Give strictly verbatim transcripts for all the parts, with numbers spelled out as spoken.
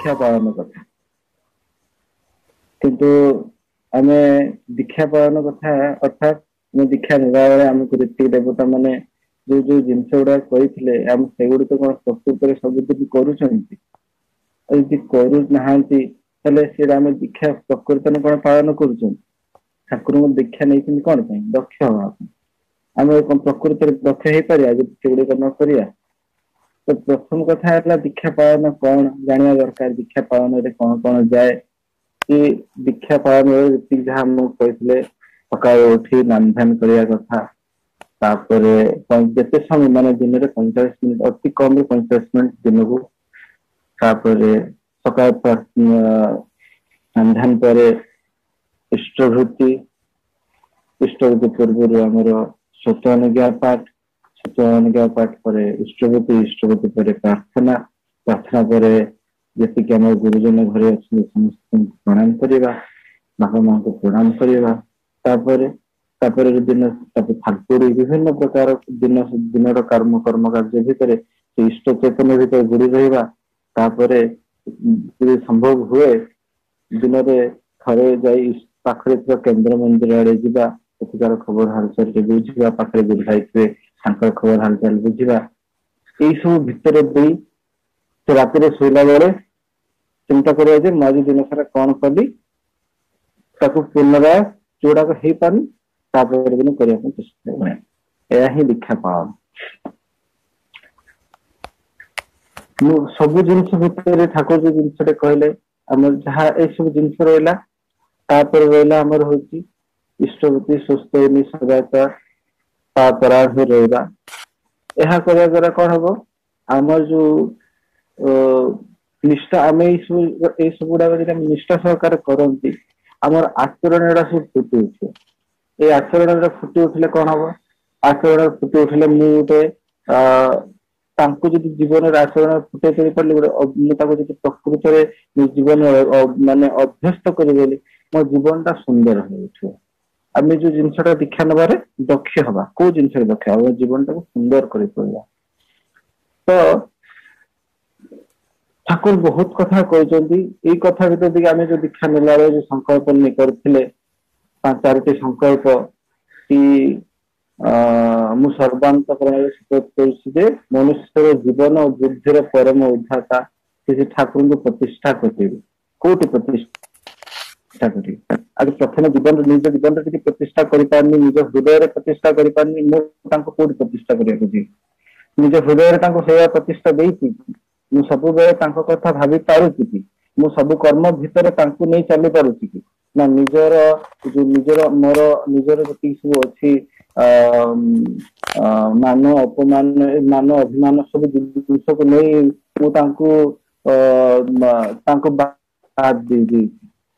ଦୀକ୍ଷା ପାଳନ କଥା। କିନ୍ତୁ ଆମେ ଦୀକ୍ଷା ପାଳନ କଥା, ଅର୍ଥାତ୍ ଆମେ ଦୀକ୍ଷା ନେବା ବେଳେ ଆମକୁ ଯେତିକି ଦେବତା ମାନେ ଯୋଉ ଯୋଉ ଜିନିଷ ଗୁଡାକ କହିଥିଲେ, ଆମେ ସେଗୁଡିକ କଣ ପ୍ରକୃତରେ ସବୁଦିନ କରୁଛନ୍ତି? ଆଉ ଯଦି କରୁନାହାନ୍ତି, ତାହେଲେ ସେଇଟା ଆମେ ଦୀକ୍ଷା ପ୍ରକୃତରେ କଣ ପାଳନ କରୁଛନ୍ତି? ଠାକୁରଙ୍କୁ ଦୀକ୍ଷା ନେଇଛନ୍ତି କଣ ପାଇଁ? ଦକ୍ଷ ହବା ପାଇଁ। ଆମେ କଣ ପ୍ରକୃତରେ ଦକ୍ଷ ହେଇପାରିବା ଯଦି ସେଗୁଡିକ ନ କରିବା? ତ ପ୍ରଥମ କଥା ହେଲା, ଦୀକ୍ଷା ପାଳନ କଣ ଜାଣିବା ଦରକାର। ଦୀକ୍ଷା ପାଳନରେ କଣ କଣ ଯାଏ କି ଦୀକ୍ଷା ପାଳନରେ ଯେତିକି ଯାହା ଆମକୁ କହିଥିଲେ, ସକାଳୁ ଉଠି ନାମ ଧ୍ୟାନ କରିବା କଥା, ତାପରେ ଯେତେ ସମୟ ମାନେ ଦିନରେ ପଇଁଚାଳିଶ ମିନିଟ, ଅତି କମରେ ପଇଁଚାଳିଶ ମିନିଟ ଦିନକୁ, ତାପରେ ସକାଳ ନାମ ଧ୍ୟାନ ପରେ ଇଷ୍ଟବୃତ୍ତି, ଇଷ୍ଟବୃତ୍ତି ପୂର୍ବରୁ ଆମର ସ୍ୱତଃ ପାଠ, ସ୍ୱତଃ ପାଠ ପରେ ଇଷ୍ଟବୃତ୍ତି, ଇଷ୍ଟବୃତ୍ତି ପରେ ପ୍ରାର୍ଥନା, ପ୍ରାର୍ଥନା ପରେ ଯେତିକି ଆମର ଗୁରୁଜନ ଘରେ ଅଛନ୍ତି ସମସ୍ତଙ୍କୁ ପ୍ରଣାମ କରିବା, ବାପା ମାଙ୍କୁ ପ୍ରଣାମ କରିବା। ତାପରେ ତାପରେ ଦିନ ତାପରେ ଠାକୁର ବିଭିନ୍ନ ପ୍ରକାର ଦିନ ଦିନର କର୍ମ କର୍ମ କାର୍ଯ୍ୟ ଭିତରେ ସେ ଇଷ୍ଟ ଚୈତନ୍ୟ ଭିତରେ ବୁଡି ରହିବା। ତାପରେ ଯଦି ସମ୍ଭବ ହୁଏ, ଦିନରେ ଥରେ ଯାଇ ପାଖରେ ଥିବା କେନ୍ଦ୍ର ମନ୍ଦିର ଆଡେ ଯିବା, ସେଠିକାର ଖବର ହାଲଚାଲ ବୁଝିବା, ପାଖରେ ଗୁରୁ ଭାଇ ଥିବେ ତାଙ୍କର ଖବର ହାଲଚାଲ ବୁଝିବା। ଏଇ ସବୁ ଭିତରେ ଦେଇ ସେ ରାତିରେ ଶୋଇଲା ବେଳେ ଚିନ୍ତା କରିବା ଯେ ମୁଁ ଆଜି ଦିନ ସାରା କଣ କଲି, ତାକୁ ପୁନରାୟ ଯୋଉଗୁଡାକ ହେଇପାରୁନି ତାପରେ ଦିନ କରିବା ପାଇଁ ଚେଷ୍ଟା କରିବା। ଏହା ହିଁ ଦୀକ୍ଷା ପାଳନ। ମୁଁ ସବୁ ଜିନିଷ ଭିତରେ ଠାକୁର ଯୋଉ ଜିନିଷଟା କହିଲେ, ଆମର ଯାହା ଏଇ ସବୁ ଜିନିଷ ରହିଲା, ତାପରେ ରହିଲା ଆମର ହଉଛି ଇଷ୍ଟବୃତ୍ତି, ସୁସ୍ଥ ସଦାଚାର, ପରାୟଣ ହୋଇ ରହିବା। ଏହା କରିବା ଦ୍ଵାରା କଣ ହବ? ଆମର ଯୋଉ ଅ ନିଷ୍ଠା, ଆମେ ଏଇ ସବୁ ଏଇ ସବୁ ଗୁଡାକ ଯଦି ଆମେ ନିଷ୍ଠା ସହକାରେ କରନ୍ତି, ଆମର ଆଚରଣ ଗୁଡା ସବୁ ଫୁଟି ଉଠିବ। ଏଇ ଆଚରଣ ଗୁଡା ଫୁଟି ଉଠିଲେ କଣ ହବ? ଆଚରଣ ଫୁଟି ଉଠିଲେ ମୁଁ ଗୋଟେ ଅ ତାଙ୍କୁ ଯଦି ଜୀବନରେ ଆଚରଣ ଫୁଟେଇ କରି ପାରିଲି, ଗୋଟେ ମୁଁ ତାକୁ ଯଦି ପ୍ରକୃତରେ ଜୀବନ ମାନେ ଅଭ୍ୟସ୍ତ କରିଦେଲି, ମୋ ଜୀବନ ଟା ସୁନ୍ଦର ହେଇ ଉଠିବ। ଆମେ ଯୋଉ ଜିନିଷଟା ଦୀକ୍ଷା ନେବାରେ ଦକ୍ଷ ହବା, କୋଉ ଜିନିଷରେ ଦକ୍ଷ ହବା? ଜୀବନଟାକୁ ସୁନ୍ଦର କରିପାରିବା। ତ ଠାକୁର ବହୁତ କଥା କହିଛନ୍ତି। ଏଇ କଥା ଭିତରେ ଟିକେ ଆମେ ଯୋଉ ଦୀକ୍ଷା ନେଲା ବେଳେ ଯୋଉ ସଂକଳ୍ପ ନେଇ କରିଥିଲେ, ପାଞ୍ଚ ଚାରୋଟି ସଂକଳ୍ପ କି ଅ ମୁଁ ସର୍ବାନ୍ତକରଣରେ ଶପଥ କରୁଛି ଯେ ମନୁଷ୍ୟର ଜୀବନ ଓ ବୁଦ୍ଧିର ପରମ ଉଦ୍ଧାତା ସେ ଠାକୁରଙ୍କୁ ପ୍ରତିଷ୍ଠା କରିଦେବେ। କୋଉଠି ପ୍ରତିଷ୍ଠା କରିବେ? ଆଗେ ପ୍ରଥମେ ଜୀବନରେ, ନିଜ ଜୀବନରେ ଯଦି ପ୍ରତିଷ୍ଠା କରିପାରୁନି, ନିଜ ହୃଦୟରେ ପ୍ରତିଷ୍ଠା କରିପାରୁନି, ମୁଁ ତାଙ୍କୁ କୋଉଠି ପ୍ରତିଷ୍ଠା କରିବାକୁ ଯିବି? ନିଜ ହୃଦୟରେ ତାଙ୍କୁ ସେଇଆ ପ୍ରତିଷ୍ଠା ଦେଇଛି? ମୁଁ ସବୁବେଳେ ତାଙ୍କ କଥା ଭାବି ପାରୁଛି କି? ମୁଁ ସବୁ କର୍ମ ଭିତରେ ତାଙ୍କୁ ନେଇ ଚାଲି ପାରୁଛି କି ନା ନିଜର ଯୋଉ ନିଜର ମୋର ନିଜର ଯେତିକି ସବୁ ଅଛି ଅ ମାନ ଅପମାନ, ମାନ ଅଭିମାନ, ସବୁ ଜିନିଷକୁ ନେଇ ମୁଁ ତାଙ୍କୁ ଅ ତାଙ୍କୁ ବାଦ ଦେଇଦେଇଛି?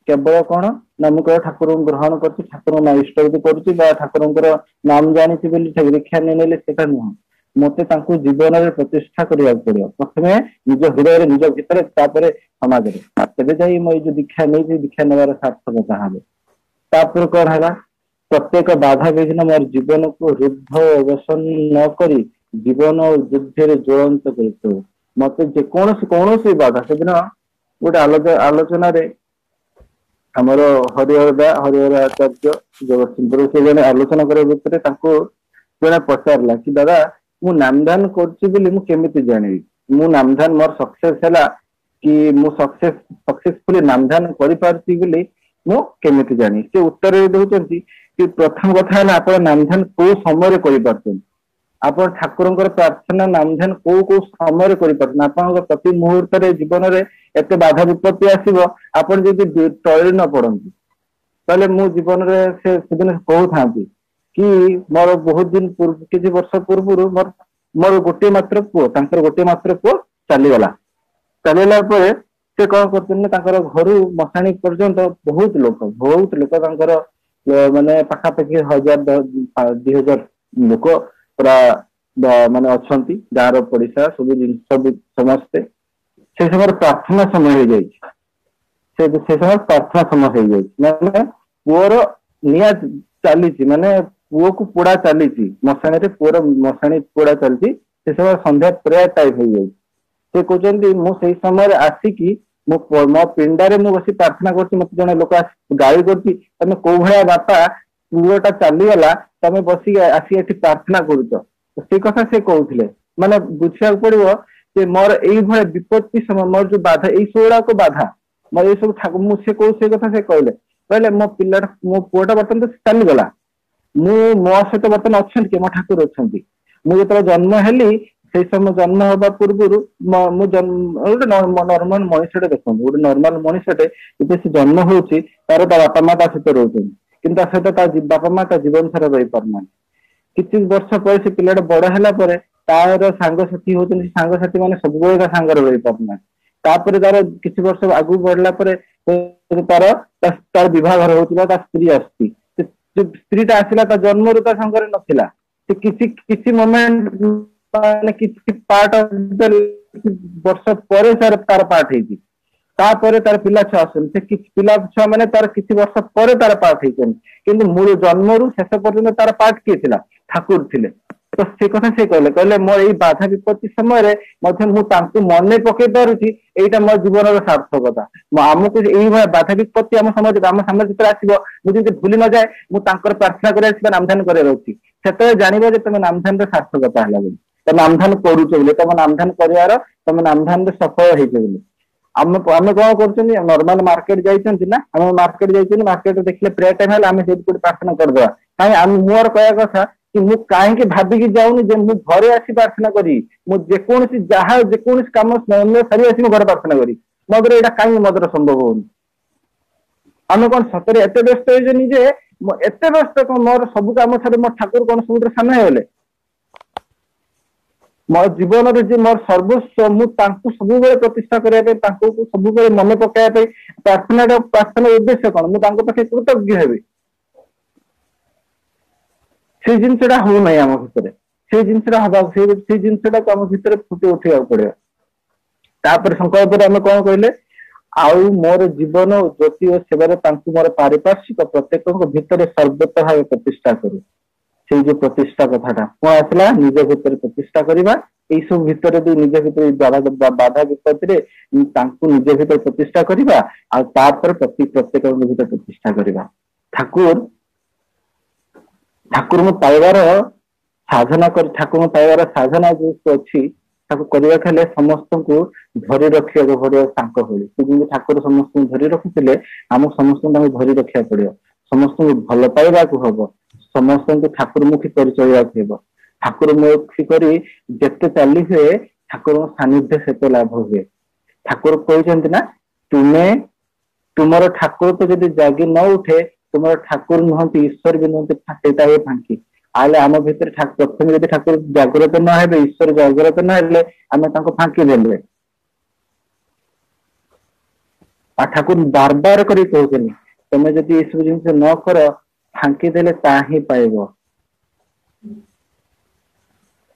କେବଳ କଣ ନା ମୁଁ କେବଳ ଠାକୁରଙ୍କୁ ଗ୍ରହଣ କରୁଛି, ଠାକୁରଙ୍କ ଇଷ୍ଟବୃତ୍ତି କରୁଛି ବା ଠାକୁରଙ୍କର ନାମ ଜାଣିଛି ବୋଲି ଦୀକ୍ଷା ନେଇ ନେଲେ, ସେଟା ନୁହଁ। ମତେ ତାଙ୍କୁ ଜୀବନରେ ପ୍ରତିଷ୍ଠା କରିବାକୁ ପଡିବ, ପ୍ରଥମେ ନିଜ ହୃଦୟରେ, ନିଜ ଭିତରେ, ତାପରେ ସମାଜରେ। ତେବେ ଯାଇ ମୁଁ ଏଇ ଯୋଉ ଦୀକ୍ଷା ନେଇଛି, ଦୀକ୍ଷା ନେବାର ସାର୍ଥକତା ହବ। ତାପରେ କଣ ହେଲା? ପ୍ରତ୍ୟେକ ବାଧା ବିଘ୍ନ ମୋର ଜୀବନକୁ ରୁଦ୍ଧ ଅବସନ୍ନ ନ କରି ଜୀବନ ଓ ଯୁଦ୍ଧରେ ଜ୍ୱଳନ୍ତ କରିଥିବ। ମତେ ଯେକୌଣସି କୌଣସି ବାଧା, ସେଦିନ ଗୋଟେ ଆଲୋଚନାରେ ଆମର ହରିହର ଦା, ହରିହର ଆଚାର୍ଯ୍ୟ ଜଗତସିଂହପୁର, ସେ ଜଣେ ଆଲୋଚନା କରିବା ଭିତରେ ତାଙ୍କୁ ଜଣେ ପଚାରିଲା କି ଦାଦା, ମୁଁ ନାମଧାନ କରୁଛି ବୋଲି ମୁଁ କେମିତି ଜାଣିବି ମୁଁ ନାମଧାନ ମୋର ସକ୍ସେସ ହେଲା କି, ମୁଁ ସକ୍ସେସ ସକ୍ସେସଫୁଲି ନାମଧାନ କରିପାରୁଛି ବୋଲି ମୁଁ କେମିତି ଜାଣିବି? ସେ ଉତ୍ତରରେ ଦଉଛନ୍ତି କି ପ୍ରଥମ କଥା ହେଲା, ଆପଣ ନାମଧାନ କୋଉ ସମୟରେ କରିପାରୁଛନ୍ତି? ଆପଣ ଠାକୁରଙ୍କର ପ୍ରାର୍ଥନା, ନାମଧ୍ୟାନ କୋଉ କୋଉ ସମୟରେ କରିପାରୁଛନ୍ତି? ଆପଣଙ୍କ ପ୍ରତି ମୁହୂର୍ତ୍ତରେ ଜୀବନରେ ଏତେ ବାଧା ବିପତ୍ତି ଆସିବ, ଆପଣ ଯଦି ଟଳି ନ ପଡନ୍ତି ତାହେଲେ ମୁଁ ଜୀବନରେ, ସେ ସେଦିନ କହୁଥାନ୍ତି କି ମୋର ବହୁତ ଦିନ ପୂର୍ବ, କିଛି ବର୍ଷ ପୂର୍ବରୁ ମୋର ମୋର ଗୋଟିଏ ମାତ୍ର ପୁଅ, ତାଙ୍କର ଗୋଟିଏ ମାତ୍ର ପୁଅ ଚାଲିଗଲା। ଚାଲିଗଲା ପରେ ସେ କଣ କରୁଛନ୍ତି ନା ତାଙ୍କର ଘରୁ ମଶାଣି ପର୍ଯ୍ୟନ୍ତ ବହୁତ ଲୋକ, ବହୁତ ଲୋକ, ତାଙ୍କର ମାନେ ପାଖାପାଖି ହଜାର ଦି ହଜାର ଲୋକ ପୁରା ମାନେ ଅଛନ୍ତି, ଗାଁର ପଡିଶା ସବୁ ଜିନିଷ ସମସ୍ତେ। ସେ ସମୟରେ ପ୍ରାର୍ଥନା ସମୟ ହେଇଯାଇଛି। ସେ ସେ ସମୟରେ ପ୍ରାର୍ଥନା ସମୟ ହେଇଯାଇଛି, ମାନେ ପୁଅର ନିଆଁ ଚାଲିଛି, ମାନେ ପୁଅକୁ ପୋଡା ଚାଲିଛି ମଶାଣିରେ, ପୁଅର ମଶାଣି ପୋଡା ଚାଲିଛି। ସେ ସମୟରେ ସନ୍ଧ୍ୟା ପ୍ରେୟାର ଟାଇମ ହେଇଯାଇଛି। ସେ କହୁଛନ୍ତି, ମୁଁ ସେଇ ସମୟରେ ଆସିକି ମୋ ମୋ ପିଣ୍ଡାରେ ମୁଁ ବସି ପ୍ରାର୍ଥନା କରୁଛି, ମତେ ଜଣେ ଲୋକ ଗାଳି କରୁଛି, ତମେ କୋଉ ଭଳିଆ ବାପା, ପୁଅଟା ଚାଲିଗଲା, ତମେ ବସିକି ଆସି ଏଠି ପ୍ରାର୍ଥନା କରୁଛ। ସେଇ କଥା ସେ କହୁଥିଲେ। ମାନେ ବୁଝିବାକୁ ପଡିବ ଯେ ମୋର ଏଇଭଳିଆ ବିପତ୍ତି ସମୟ, ମୋର ଯୋଉ ବାଧା, ଏଇ ସବୁ ଗୁଡାକ ବାଧା ମୋର ଏଇ ସବୁ ଠାକୁର, ମୁଁ ସେ କହୁ ସେଇ କଥା ସେ କହିଲେ, କହିଲେ ମୋ ପିଲାଟା, ମୋ ପୁଅଟା ବର୍ତ୍ତମାନ ତ ଚାଲିଗଲା, ମୁଁ ମୋ ସହିତ ବର୍ତ୍ତମାନ ଅଛନ୍ତି କି ମୋ ଠାକୁର ଅଛନ୍ତି। ମୁଁ ଯେତେବେଳେ ଜନ୍ମ ହେଲି, ସେଇ ସମୟ ଜନ୍ମ ହବା ପୂର୍ବରୁ ମୁଁ ଗୋଟେ ନର୍ମାଲ ମଣିଷଟେ, ଦେଖନ୍ତୁ ଗୋଟେ ନର୍ମାଲ ମଣିଷଟେ ଯେବେ ସେ ଜନ୍ମ ହଉଛି, ତାର ତା ବାପା ମା ତା ସହିତ ରହୁଛନ୍ତି, କିନ୍ତୁ ତା ସହିତ ତା ବାପା ମା ତା ଜୀବନ ସାରା ରହିପାରୁନାହାନ୍ତି। କିଛି ବର୍ଷ ପରେ ସେ ପିଲାଟା ବଡ ହେଲା ପରେ ତାର ସାଙ୍ଗସାଥି ହଉଛନ୍ତି, ସାଙ୍ଗସାଥି ମାନେ ସବୁବେଳେ ତା ସାଙ୍ଗରେ ରହିପାରୁନାହାନ୍ତି। ତାପରେ ତାର କିଛି ବର୍ଷ ଆଗକୁ ବଢିଲା ପରେ ତାର ତାର ବିବାହଘର ହଉଛି ବା ତା ସ୍ତ୍ରୀ ଆସୁଛି। ସ୍ତ୍ରୀଟା ଆସିଲା, ତା ଜନ୍ମରୁ ତା ସାଙ୍ଗରେ ନଥିଲା, ସେ କିଛି କିଛି ମୋମେଣ୍ଟ, ମାନେ କିଛି ପାର୍ଟ ବର୍ଷ ପରେ ତାର ତାର ପାର୍ଟ ହେଇଛି। ତାପରେ ତାର ପିଲା ଛୁଆ ଆସୁଛନ୍ତି, ସେ କିଛି ପିଲା ଛୁଆ ମାନେ ତାର କିଛି ବର୍ଷ ପରେ ତାର ପାର୍ଟ ହେଇଛନ୍ତି, କିନ୍ତୁ ମୂଳ ଜନ୍ମରୁ ଶେଷ ପର୍ଯ୍ୟନ୍ତ ତାର ପାର୍ଟ କିଏ ଥିଲା? ଠାକୁର ଥିଲେ। ତ ସେ କଥା ସେ କହିଲେ, କହିଲେ ମୋର ଏଇ ବାଧା ବିପତ୍ତି ସମୟରେ ମଧ୍ୟ ମୁଁ ତାଙ୍କୁ ମନେ ପକେଇ ପାରୁଛି, ଏଇଟା ମୋ ଜୀବନର ସାର୍ଥକତା। ଆମକୁ ଏଇଭଳିଆ ବାଧା ବିପତ୍ତି ଆମ ସମାଜ ଆମ ସାମ୍ନାରେ ଯେତେବେଳେ ଆସିବ, ମୁଁ ଯେମିତି ଭୁଲି ନଯାଏ, ମୁଁ ତାଙ୍କର ପ୍ରାର୍ଥନା କରିବାର ଅଛି ବା ନାମଧାନ କରିବାର ଅଛି। ସେତେବେଳେ ଜାଣିବ ଯେ ତମେ ନାମଧାନର ସାର୍ଥକତା ହେଲା ବୋଲି, ତମେ ନାମଧାନ କରୁଛ ବୋଲି, ତମ ନାମଧାନ କରିବାର, ତମେ ନାମଧାନରେ ସଫଳ ହେଇଛ ବୋଲି। ଆମେ ଆମେ କଣ କରୁଛନ୍ତି? ନର୍ମାଲ ମାର୍କେଟ ଯାଇଛନ୍ତି ନା, ଆମେ ମାର୍କେଟ ଯାଇଛନ୍ତି, ମାର୍କେଟରେ ଦେଖିଲେ ପ୍ରେୟାର ଟାଇମ ହେଲେ ଆମେ ସେଇଠି କୋଉଠି ପ୍ରାର୍ଥନା କରିଦବା। କାହିଁ ଆମେ, ମୋର କହିବା କଥା କି ମୁଁ କାହିଁକି ଭାବିକି ଯାଉନି ଯେ ମୁଁ ଘରେ ଆସି ପ୍ରାର୍ଥନା କରିବି? ମୁଁ ଯେକୌଣସି ଯାହା ଯେକୌଣସି କାମ ସାରି ଆସି ମୁଁ ଘରେ ପ୍ରାର୍ଥନା କରିବି। ମୋ ଦ୍ୱାରା ଏଇଟା କାହିଁକି ମୋ ଦ୍ୱାରା ସମ୍ଭବ ହଉନି? ଆମେ କଣ ସତରେ ଏତେ ବ୍ୟସ୍ତ ହେଇଛନ୍ତି ଯେ ଏତେ ବ୍ୟସ୍ତ କଣ ମୋର ସବୁ କାମ ଛାଡି ମୋ ଠାକୁର କଣ ସବୁଥିରେ ସାନ ହେଇଗଲେ? ମୋ ଜୀବନରେ ଯେ ମୋର ସର୍ବସ୍ୱ, ମୁଁ ତାଙ୍କୁ ସବୁବେଳେ ପ୍ରତିଷ୍ଠା କରିବା ପାଇଁ, ତାଙ୍କୁ ସବୁବେଳେ ମନେ ପକେଇବା ପାଇଁ ପ୍ରାର୍ଥନାଟା, ପ୍ରାର୍ଥନାର ଉଦ୍ଦେଶ୍ୟ କଣ? ମୁଁ ତାଙ୍କ ପାଖେ କୃତଜ୍ଞ ହେବି। ସେଇ ଜିନିଷଟା ହଉନାହିଁ ଆମ ଭିତରେ। ସେଇ ଜିନିଷଟା ହବାକୁ, ସେଇ ସେଇ ଜିନିଷଟାକୁ ଆମ ଭିତରେ ଫୁଟି ଉଠେଇବାକୁ ପଡିବ। ତାପରେ ସଂକଳ୍ପରେ ଆମେ କଣ କହିଲେ? ଆଉ ମୋର ଜୀବନ ଜ୍ୟୋତି ଓ ସେବାରେ ତାଙ୍କୁ ମୋର ପାରିପାର୍ଶ୍ୱିକ ପ୍ରତ୍ୟେକଙ୍କ ଭିତରେ ସର୍ବତ ଭାବେ ପ୍ରତିଷ୍ଠା କରୁ। ସେଇ ଯୋଉ ପ୍ରତିଷ୍ଠା କଥାଟା କଣ ଆସିଲା? ନିଜ ଭିତରେ ପ୍ରତିଷ୍ଠା କରିବା। ଏଇ ସବୁ ଭିତରେ ବି ନିଜ ଭିତରେ ବାଧା ବିପତ୍ତିରେ ତାଙ୍କୁ ନିଜ ଭିତରେ ପ୍ରତିଷ୍ଠା କରିବା, ଆଉ ତାପରେ ପ୍ରତି ପ୍ରତ୍ୟେକଙ୍କ ଭିତରେ ପ୍ରତିଷ୍ଠା କରିବା। ଠାକୁର ଠାକୁରଙ୍କୁ ପାଇବାର ସାଧନା କରି, ଠାକୁରଙ୍କୁ ପାଇବାର ସାଧନା ଯୋଉ ଅଛି ତାକୁ କରିବାକୁ ହେଲେ ସମସ୍ତଙ୍କୁ ଧରି ରଖିବାକୁ ପଡିବ ତାଙ୍କ ଭଳି। ସେ ଯେମିତି ଠାକୁର ସମସ୍ତଙ୍କୁ ଧରି ରଖିଥିଲେ, ଆମକୁ ସମସ୍ତଙ୍କୁ ତାଙ୍କୁ ଧରି ରଖିବାକୁ ପଡିବ। ସମସ୍ତଙ୍କୁ ଭଲ ପାଇବାକୁ ହବ, ସମସ୍ତଙ୍କୁ ଠାକୁରମୁଖୀ କରି ଚଳିବାକୁ ହେବ। ଠାକୁରମୁଖୀ କରି ଯେତେ ଚାଲି ହୁଏ, ଠାକୁରଙ୍କ ସାନ୍ନିଧ୍ୟ ସେତେ ଲାଭ ହୁଏ। ଠାକୁର କହିଛନ୍ତି ନା, ତୁମେ ତୁମର ଠାକୁର ତ ଯଦି ଜାଗି ନ ଉଠେ, ତୁମର ଠାକୁର ନୁହନ୍ତି, ଈଶ୍ୱର ବି ନୁହନ୍ତି, ସେଇଟା ହିଁ ଫାଙ୍କି। ତାହେଲେ ଆମ ଭିତରେ ପ୍ରଥମେ ଯଦି ଠାକୁର ଜାଗ୍ରତ ନ ହେବେ, ଈଶ୍ୱର ଜାଗ୍ରତ ନ ହେଲେ, ଆମେ ତାଙ୍କୁ ଫାଙ୍କି ଦେଲେ। ଆଉ ଠାକୁର ବାର ବାର କରି କହୁଛନ୍ତି, ତମେ ଯଦି ଏସବୁ ଜିନିଷ ନ କର, ଫାଙ୍କି ଦେଲେ ତା ହିଁ ପାଇବ।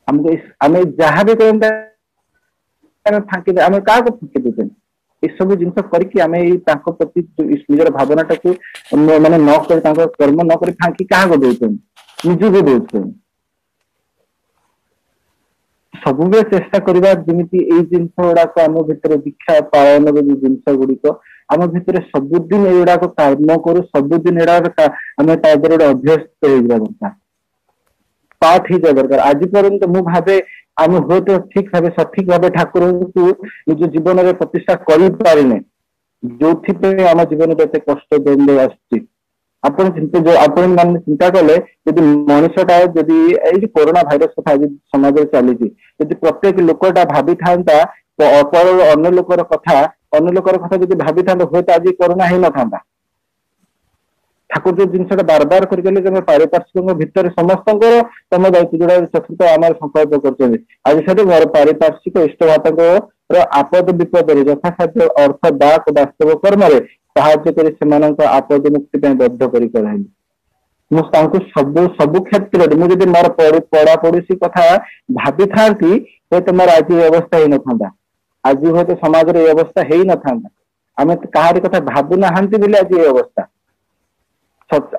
ଆମକୁ ଆମେ ଯାହା ବି କରନ୍ତେ ଆମେ ଫାଙ୍କି, ଆମେ କାହାକୁ ଫାଙ୍କି ଦଉଛନ୍ତି? ଏସବୁ ଜିନିଷ କରିକି ଆମେ ଏଇ ତାଙ୍କ ପ୍ରତି ନିଜର ଭାବନାଟାକୁ ମାନେ ନ କରି, ତାଙ୍କ କର୍ମ ନ କରି ଫାଙ୍କି କାହାକୁ ଦଉଛନ୍ତି? ନିଜକୁ ଦଉଛନ୍ତି। ସବୁବେଳେ ଚେଷ୍ଟା କରିବା ଯେମିତି ଏଇ ଜିନିଷ ଗୁଡାକ ଆମ ଭିତରେ, ଦୀକ୍ଷା ପାଳନର ଯୋଉ ଜିନିଷ ଗୁଡିକ ଆମ ଭିତରେ ସବୁଦିନ ଏଇଗୁଡାକ କାମ କରୁ, ସବୁଦିନ ଏଗୁଡାକ ଆମେ ତା ଦେହରେ ଗୋଟେ ଅଭ୍ୟସ୍ତ ହେଇଯିବା ଦରକାର, ପାଠ ହେଇଯିବା ଦରକାର। ଆଜି ପର୍ଯ୍ୟନ୍ତ ମୁଁ ଭାବେ ଆମେ ହୁଏତ ଠିକ ଭାବେ, ସଠିକ ଭାବେ ଠାକୁରଙ୍କୁ ନିଜ ଜୀବନରେ ପ୍ରତିଷ୍ଠା କରିପାରିନେ, ଯୋଉଥିପାଇଁ ଆମ ଜୀବନରେ ଏତେ କଷ୍ଟ ଦ୍ୱନ୍ଦ୍ୱ ଆସୁଛି। ଆପଣ ଚିନ୍ତା, ଯୋଉ ଆପଣ ମାନେ ଚିନ୍ତା କଲେ, ଯଦି ମଣିଷଟା ଯଦି ଏଇ ଯୋଉ କରୋନା ଭାଇରସ କଥା ଆଜି ସମାଜରେ ଚାଲିଛି, ଯଦି ପ୍ରତ୍ୟେକ ଲୋକଟା ଭାବିଥାନ୍ତା ପର ଅନ୍ୟ ଲୋକର କଥା, ଅନ୍ୟ ଲୋକର କଥା ଯଦି ଭାବିଥାନ୍ତା, ହୁଏତ ଆଜି କରୋନା ହେଇନଥାନ୍ତା। ଠାକୁର ଯୋଉ ଜିନିଷଟା ବାର ବାର କରି ଗଲେ, ତମେ ପାରିପାର୍ଶ୍ୱିକଙ୍କ ଭିତରେ ସମସ୍ତଙ୍କର ତମ ଦାୟିତ୍ୱ, ଯୋଉଟା ଚତୁର୍ଥ ଆମର ସଂକଳ୍ପ କରୁଛନ୍ତି ଆଜି ସେଠି, ମୋର ପାରିପାର୍ଶ୍ୱିକ ଇଷ୍ଟଭାତଙ୍କର ଆପଦ ବିପଦରେ ଯଥାସାଧ୍ୟ ଅର୍ଥ, ବାକ, ବାସ୍ତବ କର୍ମରେ ସାହାଯ୍ୟ କରି ସେମାନଙ୍କ ଆପଦ ମୁକ୍ତି ପାଇଁ ବଦ୍ଧ କରି କରାଇଲି। ମୁଁ ତାଙ୍କୁ ସବୁ ସବୁ କ୍ଷେତ୍ରରେ ମୁଁ ଯଦି ମୋର ପଡା ପଡୋଶୀ କଥା ଭାବିଥାନ୍ତି, ହୁଏତ ମୋର ଆଜି ଏ ଅବସ୍ଥା ହେଇନଥାନ୍ତା। ଆଜି ହୁଏତ ସମାଜରେ ଏଇ ଅବସ୍ଥା ହେଇନଥାନ୍ତା। ଆମେ କାହାରି କଥା ଭାବୁନାହାନ୍ତି ବୋଲି ଆଜି ଏଇ ଅବସ୍ଥା।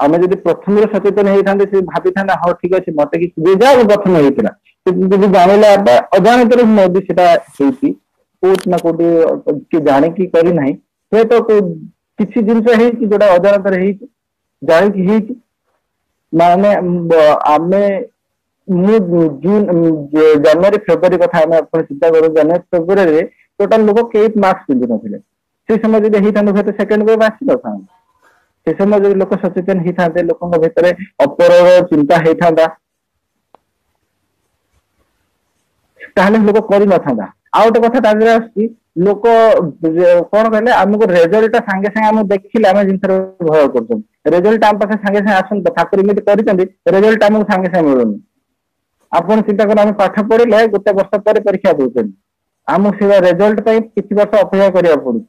ଆମେ ଯଦି ପ୍ରଥମରୁ ସଚେତନ ହେଇଥାନ୍ତେ, ସେ ଭାବିଥାନ୍ତା, ହଁ ଠିକ ଅଛି, ମତେ କିଛି ଯାହା ପ୍ରଥମେ ହେଇଥିଲା, ଯଦି ଜାଣିଲା ବା ଅଜାଣତରେ ବି ସେଟା ହେଇଛି, କୋଉଠି ନା କୋଉଠି କିଏ ଜାଣିକି କରିନାହିଁ। ହୁଏତ କିଛି ଜିନିଷ ହେଇଛି ଯୋଉଟା ଅଜାଣତରେ ହେଇଛି, ଜାଣିକି ହେଇଛି। ମାନେ ଆମେ ମୁଁ ଜୁନ, ଜାନୁଆରୀ, ଫେବୃଆରୀ କଥା ଆମେ ଆପଣ ଚିନ୍ତା କରୁ, ଜାନୁଆରୀ ଫେବୃଆରୀରେ ଟୋଟାଲ ଲୋକ କେହି ମାସ୍କ ପିନ୍ଧି ନଥିଲେ। ସେ ସମୟ ଯଦି ହେଇଥାନ୍ତା, ହୁଏତ ସେକେଣ୍ଡ ୱେଭ୍ ଆସିନଥାନ୍ତା। ସେ ସମୟ ଯଦି ଲୋକ ସଚେତନ ହେଇଥାନ୍ତେ, ଲୋକଙ୍କ ଭିତରେ ଅପରର ଚିନ୍ତା ହେଇଥାନ୍ତା, ତାହେଲେ ଲୋକ କରିନଥାନ୍ତା। ଆଉ ଗୋଟେ କଥା ତା ଦେହରେ ଆସୁଛି, ଲୋକ କଣ କହିଲେ, ଆମକୁ ରେଜଲ୍ଟ ଟା ସାଙ୍ଗେ ସାଙ୍ଗେ ଆମକୁ ଦେଖିଲେ ଆମେ ଜିନିଷରେ ଭୟ କରୁଛନ୍ତି। ରେଜଲ୍ଟ ଆମ ପାଖରେ ସାଙ୍ଗେ ସାଙ୍ଗେ ଆସନ୍ତି, ଠାକୁର ଏମିତି କରିଛନ୍ତି, ରେଜଲ୍ଟ ଆମକୁ ସାଙ୍ଗେ ସାଙ୍ଗେ ମିଳୁନି। ଆପଣ ଚିନ୍ତା କର, ଆମେ ପାଠ ପଢିଲେ ଗୋଟେ ବର୍ଷ ପରେ ପରୀକ୍ଷା ଦଉଛନ୍ତି, ଆମକୁ ସେ ରେଜଲ୍ଟ ପାଇଁ କିଛି ବର୍ଷ ଅପେକ୍ଷା କରିବାକୁ ପଡୁଛି।